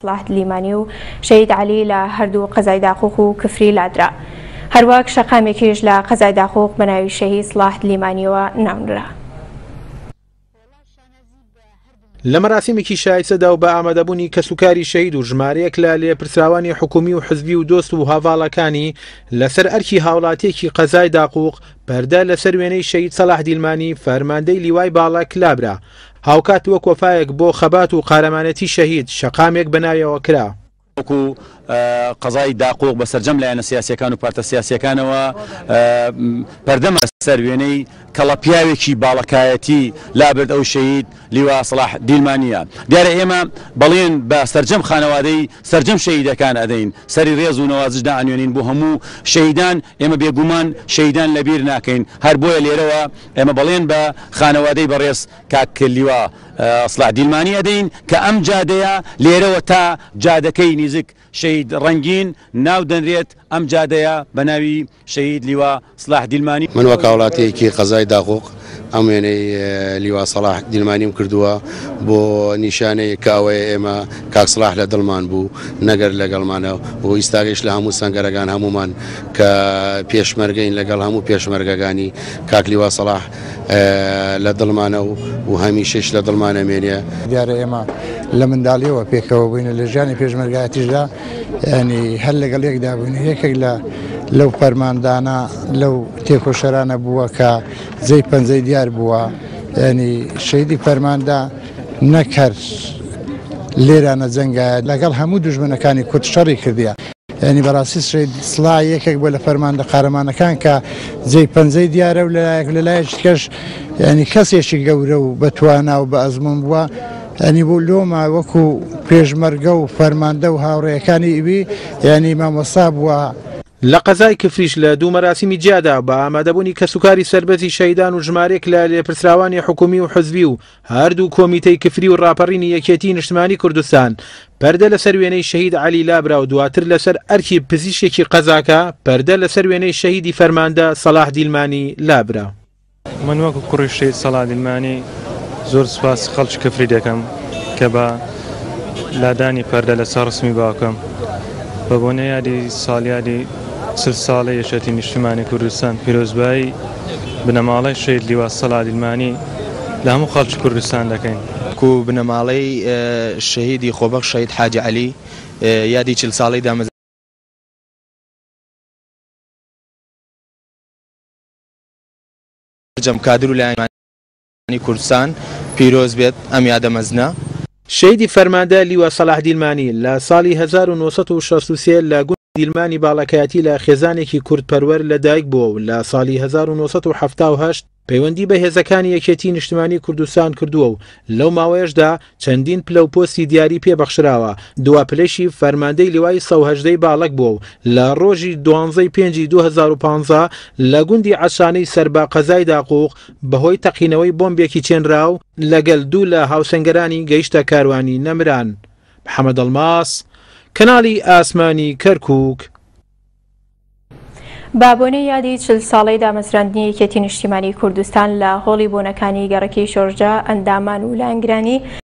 سڵاح دلیمانی و شەهید عەلی لە هەردوو قەزای داقوق و کفری لادرا. هەروەک شەقامێکیش لە قەزای داقوق بە ناوی شەهید سڵاح دلیمانیەوە ناونرا. لە مەراسیمێکی شایستەدا و بە ئامادەبوونی کەسوکاری شەهید و ژمارەیەک لە لێپرسراوانی حکومی و حزبی و دۆست و هاڤاڵەکانی لەسەر ئەرکی هاوڵاتیەکی قەزای داقوق پەردە لەسەر وێنەی شەهید سەڵاح دیلمانی فەرماندەی لیوای باڵەک لابرا. هاوکات وەک وەفایەک بۆ خەبات و قارەمانێتی شەهید، شەقامێک بە ناویەوە کرا. وەکو قەزای داقوق بە سەرجەم لایەنە سیاسیەکان و پارتە سیاسیەکانەوە پەردەمان لەسەر وێنەی کەڵە پیاوێکی باڵەکایەتی لابرد ئەو شەهید لیوا سەڵاح دیلمانیە. دیارە ئێمە بەڵێن بە سەرجەم خانەوادەی سەرجەم شەهیدەکان ئەدەین سەری ڕێز و نەوازش دائەنوێنین بۆ هەموو شەهیدان ئێمە بێگومان شەهیدان لەبیر ناکەین هەر بۆیە لێرەوە ئێمە بەڵێن بە خانەوادەی بەڕێز کاک لیوا سڵاح دیلمانی ئەدەین کە ئەم جادەیە لێرەوە تا جادەکەی نیزک شەهید ڕەنگین ناو دەنرێت، ئەم جادەیە بە ناوی شەهید لیوا سڵاح دیلمانی. من وەک هاوڵاتیەکی قەزای داقوق ئەم وێنەی لیوا سەڵاح دیلمانیم کردووە بۆ نیشانەیەک کە ئەوەیە ئێمە کاک سڵاح لە دڵمان بوو نەگەر لەگەڵمانە و ئیستاگەیش لە هەموو سەنگەرەکان هەموومان کە پێشمەرگەین لەگەڵ هەموو پێشمەرگەکانی کاک لیوا سەڵاح لە دڵمانە و و هەمیشەش لە دڵمان ئەمێنێ. دیارە ئێمە لە منداڵیەوە پێکەوە بووین لە ژیانی پێشمەرگایەتیشدا ینی هەر لەگەڵ یەکدا بووین یەکێک لە لەو فەرماندانە لەو تێکۆشەرانە بووە کە جێی پەنجەی دیار بووە ینی شەیدی فەرماندە نەک هەر لێرانە جەنگایە لەگەڵ هەموو دوژمنەکانی کورد شەڕی کردیە. یانی بەڕاستی شەهید سڵاح یەکێک بووە لە فەرماندە قارەمانەکان کە جێی پەنجەی دیارە و لەلایەک لەلایەکی کەش ینی کەسێکی گەورە و بەتوانا و بە ئەزمون بووە ینی بوو لۆمە وەکو پێشمەرگە و فەرماندە و هاوڕێیەکانی ئیوی ینی مامۆستا بووە. لە قەزای کفریش لە دوو مەراسیمی جیادا بە ئامادەبوونی کەسوکاری سەربەرزی شەهیدان و ژمارەیەک لە لێپرسراوانی حکومی و حزبی و هەردوو کۆمیتەی کفری و ڕاپەڕینی یەکێتیی نیشتمانی کوردستان پەردە لەسەر وێنەی شەهید عەلی لابرا و دواتر لەسەر ئەرکی پزیشکێکی قەزاکە پەردە لەسەر وێنەی شەهیدی فەرماندە سەڵاح دیلمانی لابرا. من وەکو کوڕی شەهید سەڵاح دیلمانی زۆر سوپاسی خەڵکی کفری دەکەم کە بە لادانی پەردە لەسەر ڕسمی باوکم بە بۆنەی یادی ساڵیادی 40 ساڵەی یەکێتی نیشتیمانی کوردستان پیرۆزبایی بنەماڵەی شەهید لیوا سەڵاح دیلمانی لە هەموو خەڵکی کوردستان دەکەین. وەکو بنەماڵەی شەهیدی خۆبەخش شەهید حاجی عەلی یادی 40 ساڵەی دامەزراندنی سەرجەم کادر و لایەنانی کوردستان پیرۆز بێت ئەم یادە مەزنە. شەهیدی فەرماندە لیوا سەڵاح دیلمانی لە ساڵی 1963 لە گوندی دیلمانی باڵەکایەتی لە خێزانێکی کوردپەروەر لە دایک بووە و لە ساڵی 1978 پەیوەندی بە هێزەکانی یەکێتی نیشتمانی کوردستان کردووە و لەو ماوەیەشدا چەندین پلە و پۆستی دیاری پێ بەخشراوە، دوا پلەیشی فەرماندەی لیوای 118 ی باڵەک بووە و لە ڕۆژی دوانزە ی پێنجی 2015 لە گوندی عەشانەی سەر بە قەزای داقوق بەهۆی تەقینەوەی بۆمبێکی چێنراو لەگەل دوو لە هاوسەنگەرانی گەیشتە کاروانی نەمران. محەمەد ئەڵماس، کەناڵی ئاسمانی کەرکوک. بە بۆنەی یادی 40 ساڵەی دامەزراندنی یەکێتی نیشتیمانی کوردستان لە هۆڵی بۆنەکانی گەڕەکی شۆرجە ئەندامان و لایەنگرانی.